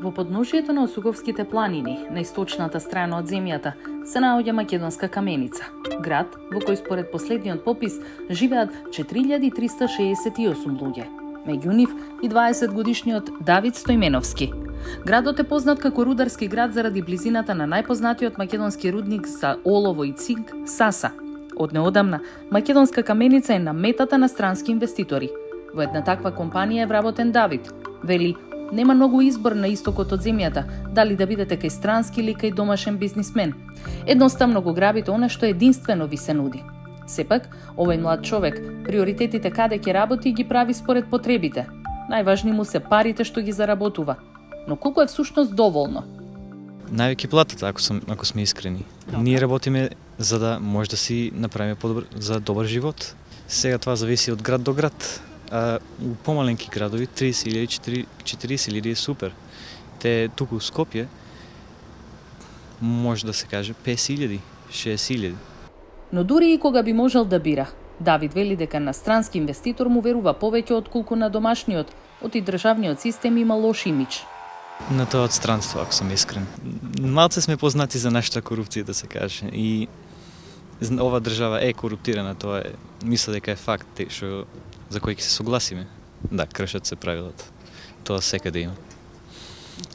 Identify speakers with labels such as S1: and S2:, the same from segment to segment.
S1: Во подножието на Осуговските планини, на источната страна од земјата, се наоѓа Македонска каменица, град во кој според последниот попис живеат 4368 луѓе. Меѓу нив и 20-годишниот Давид Стојменовски. Градот е познат како рударски град заради близината на најпознатиот македонски рудник за олово и цинк Саса. Од неодамна, Македонска каменица е на метата на странски инвеститори. Во една таква компанија е вработен Давид. Вели, нема многу избор на истокот од земјата, дали да бидете кај странски или кај домашен бизнисмен. Едноставно го грабите она што единствено ви се нуди. Сепак, овој млад човек, приоритетите каде ќе работи ги прави според потребите. Најважни му се парите што ги заработува. Но колку е всушност доволно?
S2: Највеќе платата, ако сме искрени. Ние работиме за да може да си направиме за добар живот. Сега това зависи од град до град. А у помаленки градови 30.000, 40.000 е супер. Те туку у Скопје може да се каже 50.000, 60.000.
S1: Но дури и кога би можел да бира, Давид вели дека на странски инвеститор му верува повеќе отколку на домашниот, оти државниот систем има лош имидж.
S2: На тоа од странство, ако сум искрен. Малце сме познати за нашата корупција, да се каже. И ова држава е коруптирана, тоа е, мисля дека е факт, што за кој ќе се согласиме. Да, кршат се правилата. Тоа секаде има.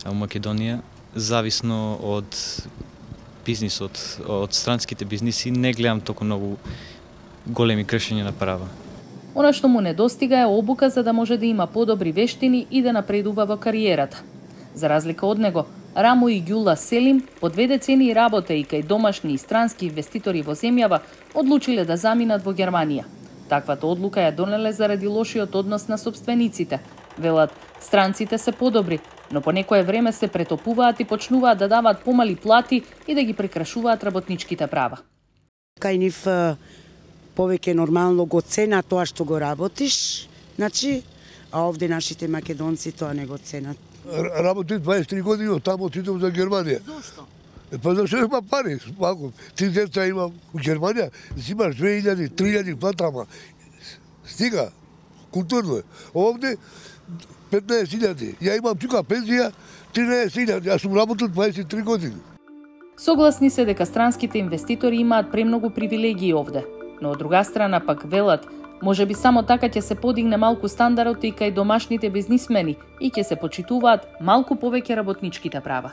S2: А у Македонија, зависно од бизнисот, од странските бизниси, не гледам толку многу големи кршења на права.
S1: Она што му недостига е обука за да може да има подобри вештини и да напредува во кариерата. За разлика од него, Рамо и Ѓула Селим, по 2 децении работа и кај домашни и странски инвеститори во земјава, одлучиле да заминат во Германија. Таквата одлука ја донеле заради лошиот однос на собствениците. Велат, странците се подобри, но по некое време се претопуваат и почнуваат да даваат помали плати и да ги прекрашуваат работничките права.
S3: Кај нив повеќе нормално го цена тоа што го работиш, значи, а овде нашите македонци тоа не го ценат.
S4: Работи 23 години, оттаму отидов за Германија.
S3: Зошто?
S4: Па зашто има пари, малку. Ти деца има у Германија, си имаш 2000, 3000 плата, ама стига, културно е. Овде 15.000, ја имам тука пензија 13.000, јас сум работил 23 години.
S1: Согласни се дека странските инвеститори имаат премногу привилегии овде, но од друга страна пак велат, може би само така ќе се подигне малку стандарот и кај домашните бизнисмени и ќе се почитуваат малку повеќе работничките права.